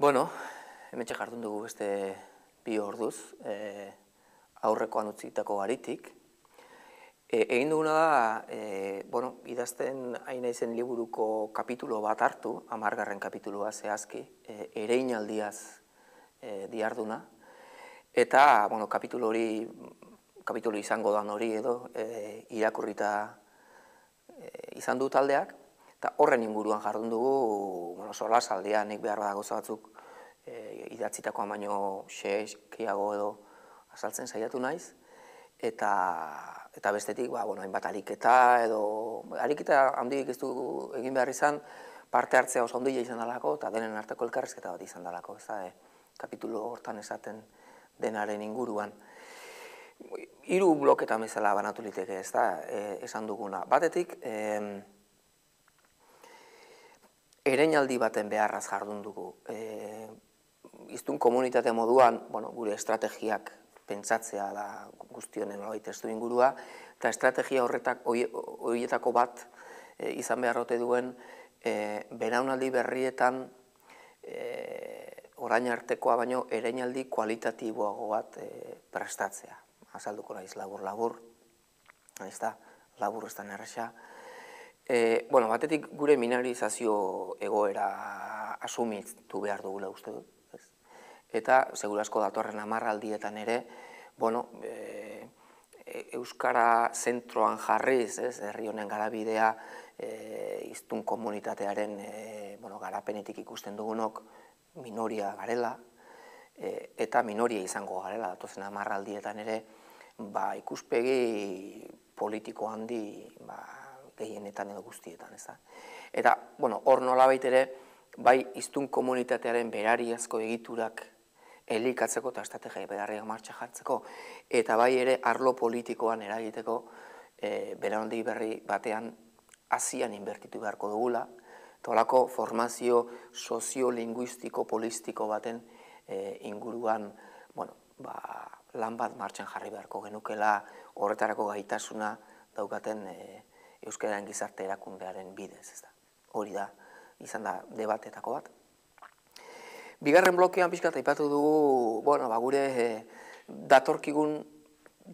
Bueno, hementxe jardun dugu beste 2 orduz, aurrekoan utzitako garitik. Egin duguna da, idazten hain naizen liburuko kapitulo bat hartu, 10. kapitulua zehazki, ereinaldiaz diarduna. Eta, kapitulu izango dan hori edo, irakurrita izan du taldeak, eta horren inguruan jardun dugu, solasaldia nik behar da gauza batzuk idatzitakoa baino gehiago edo azaltzen saiatu naiz, eta bestetik, hainbat ariketa edo, ariketa handik ez du egin behar izan, parte hartzea oso handia izan dalako, eta denen arteko elkarrizketa bat izan dalako, ez da, kapitulu hortan esaten denaren inguruan. 3 bloketan bezala banatu liteke, ez da, esan duguna. Batetik, ereinaldi baten beharraz jardun dugu. Hiztun komunitate moduan, gure estrategiak pentsatzea da guztionen nolabait testu ingurua, eta estrategia horietako bat izan beharrote duen belaunaldi berrietan orain artekoa baino ereinaldi kualitatiboago bat prestatzea. Azalduko naiz labur-labur, ez da, labur ez da nerresa. Batetik gure mineralizazio egoera asumitu behar dugula uste dut. Eta, segurazko datorren 10 aldietan ere, Euskara zentroan jarriz, herri honen garabidea, hiztun komunitatearen garapenetik ikusten dugunok minoria garela, eta minoria izango garela, datozen 10 aldietan ere, ikuspegi politiko handi gehienetan edo guztietan, ez da. Eta, hor nolabait ere, bai hiztun komunitatearen berariazko egiturak elikatzeko eta estrategia beharriak martxa jartzeko, eta bai ere arlo politikoan eragiteko belaunaldi berri batean hazian inbertitu beharko dugula, eta holako formazio soziolinguistiko polistiko baten inguruan lan bat martxan jarri beharko genukela horretarako gaitasuna daukaten euskararen gizarte erakundearen bidez, ez da. Hori da, izan da debatetako bat. Bigarren blokean pixkat aipatu dugu, gure datorkigun,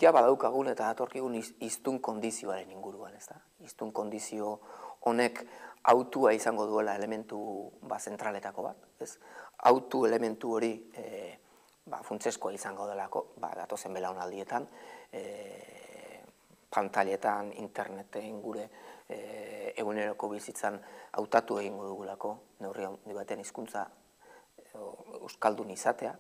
ja badaukagun eta datorkigun hiztun kondizioaren inguruan, ez da. Hiztun kondizio honek autua izango duela elementu zentraletako bat, ez. Autu elementu hori funtseskoa izango delako, datozen belaunaldietan, pantailetan, interneten, gure eguneroko bizitzan hautatu egingo dugulako, neurri handi baten hizkuntza euskaldun izatea,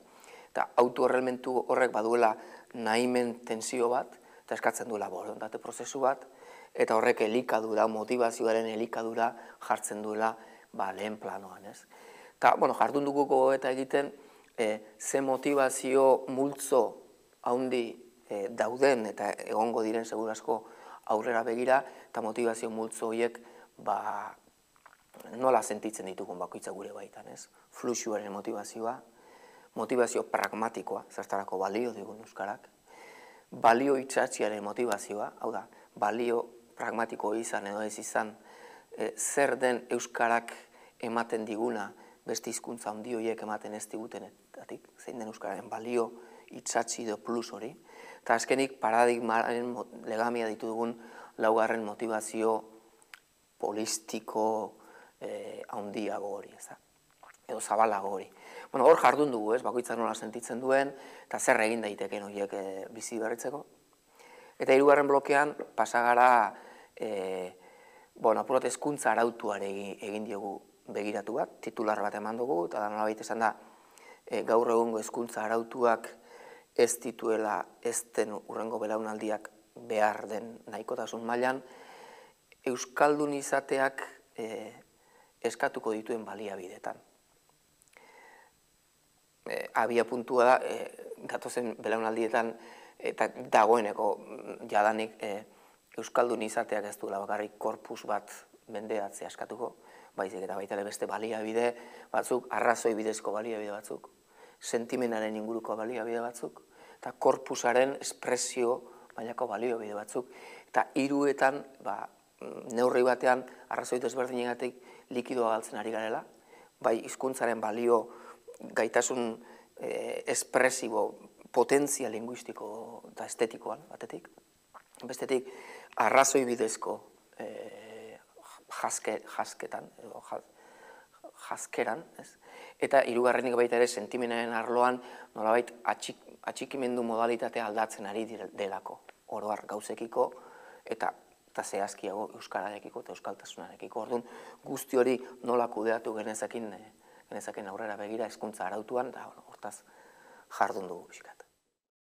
eta autu elementu horrek baduela nahimen tensio bat, eta eskatzen duela borondate prozesu bat, eta horrek elikadura, motivazioaren elikadura jartzen duela lehen planoan, ez. Eta, jardun dugu eta egiten, ze motivazio multzo handi dauden eta egongo diren segurazko aurrera begira, eta motivazio multzo horiek nola sentitzen ditugun bakoitza gure baitan, ez? Fluxuaren motivazioa, motivazio pragmatikoa, zertarako balio digun euskarak, balio itsatziaren motivazioa, hau da, balio pragmatiko izan edo ez izan, zer den euskarak ematen diguna, beste hizkuntza handi horiek ematen ez digutenetatik, zein den euskararen balio itsatzi edo plus hori, eta azkenik paradigmaren legamia ditu dugun 4. motivazio polistiko handiago hori, ez da, edo zabalago hori. Hor jardun dugu, ez, bakoitzak nola sentitzen duen, eta zer egin daiteken horiek bizi berritzeko. Eta 3. blokean, pasagara, apurat hezkuntza arautuare egin diogu begiratu bat, titular bat eman dugu, eta da nolabait esan da, gaur egungo hezkuntza arautuak ez dituela ez den hurrengo belaunaldiak behar den nahikotasun mailan, euskaldun izateak eskatuko dituen baliabidetan. Abia puntua da, datozen belaunaldietan, eta dagoeneko jadanik euskaldun izateak ez duela bakarrik korpus bat mendeatzea eskatuko, baizik eta baita beste baliabide batzuk, arrazoi bidezko baliabide batzuk, sentimenaren inguruko baliabide batzuk, eta korpusaren espresio mailako baliabide batzuk, eta 3etan, neurri batean, arrazoi desberdinegatik likidoa galtzen ari garela, bai hizkuntzaren balio gaitasun espresibo, potentzia linguistiko eta estetikoan, batetik. Bestetik, arrazoi bidezko jasketan, edo jaskeran, ez? Eta hirugarrenik baita ere sentimenaren arloan nolabait atxikimendu modalitatea aldatzen ari delako, oro har gauzekiko eta zehazkiago euskararekiko eta euskaltasunarekiko. Orduan, guzti hori nola kudeatu genezaken aurrera begira hezkuntza arautuan, eta hortaz jardun dugu pixkat.